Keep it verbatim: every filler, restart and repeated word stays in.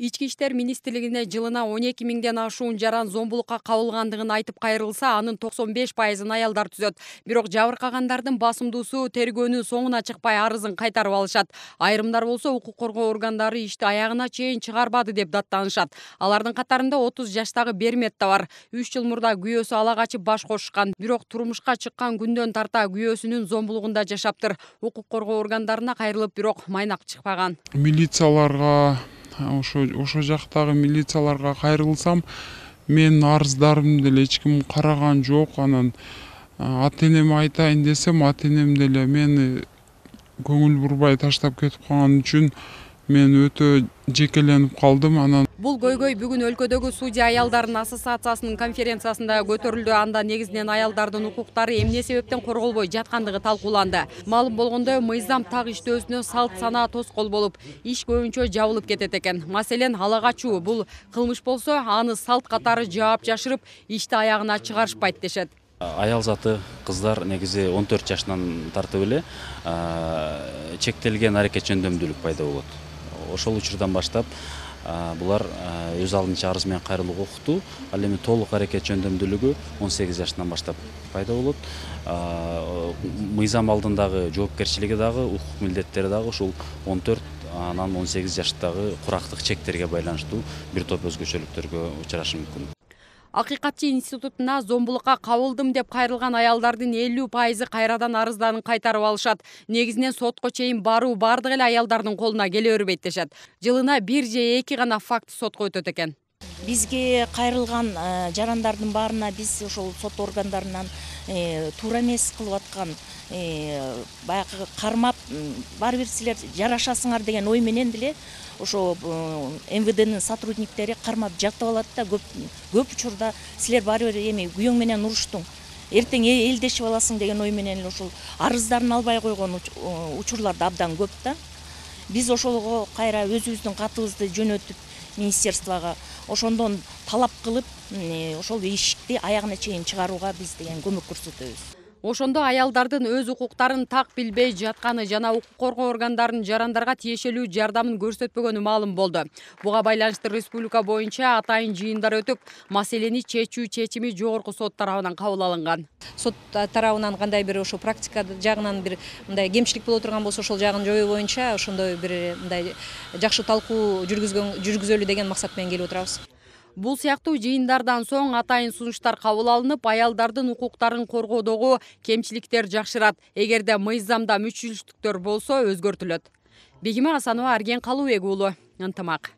Ички иштер министрлигине жылына он эки миңден ашуун жаран зомбулукка кабылгандыгын айтып кайрылса, анын токсон беш пайызын аялдар түзөт. Бирок жабыркагандардын басымдуусу тергөөнүн соңуна чыкпай арызын кайтарып алышат. Айрымдар болсо укук коргоо органдары ишти аягына чейин чыгарбады деп даттанышат. Алардын катарында отуз жаштагы Бермет да бар. үч жыл мурда күйөөсү ала качып баш кошушкан. Бирок турмушка чыккан күндөн тарта күйөөсүнүн зомбулугунда жашаптыр. Укук коргоо органдарына кайрылып, бирок майнак чыкпаган. Милицияларга ошо ошо жактагы милицияларга кайрылсам, мен арыздарымды деле эч ким караган жок. Анан ата энеме айтайын десем, ата энем деле мени көңүл бурбай таштап кетип калган үчүн мен өтө жекеленип калдым. Анан бул көйгөй бүгүн өлкөдөгү судья аялдардын ассоциациясынын конференциясында көтөрүлдү. Анда негизинен аялдардын укуктары эмне себептен корголбой жаткандыгы талкууланды. Маалым болгондой, мыйзам так иштөөсүнө салт санаа тоскоол болуп, иш көбүнчө жабылып кетет экен. Маселен, ала качуу бул кылмыш болсо, аны салт катары жаап жашырып, ишти аягына чыгарышпайт дешет. Аял заты кыздар негизи он төрт жашынан тартып эле чектелген аракет жөндөмдүүлүк пайда болот. Ошол учурдан баштап булар өз алдынча арыз менен кайрылууга укуктуу. Ал эми толук аракет жөндөмдүүлүгү он сегиз жашынан баштап пайда болот. Мыйзам алдындагы жоопкерчилиги дагы, укук милдеттери дагы ушул он төрт анан он сегиз жаштагы курактык чектерге байланыштуу бир топ өзгөчөлүктөргө учурашы мүмкүн. Акыйкатчы институтуна зомбулукка кабылдым деп кайрылган аялдардын элүү пайызы кайрадан арыздарын кайтарып алышат. Негизинен сотко чейин баруу бардык эле аялдардын колуна келе бербейт дешет. Жылына бир же эки гана факт сотко өтөт экен. Бизге кайрылган жарандардын баарына биз ошол сот органдарынан туура эмес кылып аткан баягы кармап, баары бир силер жарашасыңар деген ой менен деле ошо эм вэ дэнин сотрудниктери кармап жатып алат да, көп көп учурда силер баары бир эми күйөөң менен уруштуң, эртең элдешип аласың деген ой менен эле ошол арыздарын албай койгон учурлар да абдан көп да. Биз ошолго кайра өзүбүздүн катыбызды жөнөтүп министерствого ошондон талап кылып, ошол ишти аягына чейин чыгарууга биз деген көмөк көрсөтөбүз. Ошондо аялдардын өз укуктарын так билбей жатканы жана укук коргоо органдарынын жарандарга тиешелүү жардамын көрсөтпөгөнү маалым болду. Буга байланыштуу республика боюнча атайын жыйындар өтүп, маселени чечүү чечими жогорку сот тарабынан кабыл алынган. Сот тарабынан кандай бир ошо практика жагынан бир мындай кемчилик боло турган болсо, ошол жагын жоюу боюнча ошондой бир мындай жакшы талкуу жүргүзгөн жүргүзөлү деген максат менен келип отурабыз. Бул сыяктуу жыйындардан соң атайын сунуштар кабыл алынып, аялдардын укуктарын коргоодогу кемчиликтер жакшырат. Эгерде мыйзамда мүчүлүштүктөр болсо, өзгөртүлөт. Бегима Асанова, Арген Калыбек уулу, Ынтымак.